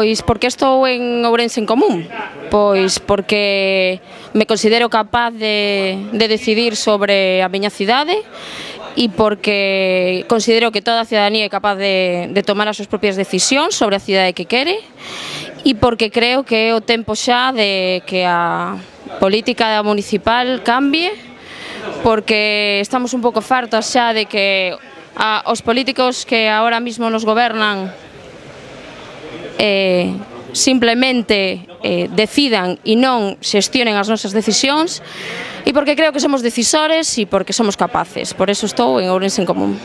Pois porque estou en Ourense en Común, pois porque me considero capaz de decidir sobre a miña cidade e porque considero que toda a cidadanía é capaz de tomar as súas propias decisións sobre a cidade que quere e porque creo que é o tempo xa de que a política municipal cambie, porque estamos un pouco fartos xa de que os políticos que ahora mismo nos gobernan simplemente decidan e non xestionen as nosas decisións, e porque creo que somos decisores e porque somos capaces. Por eso estou en Ourense en Común.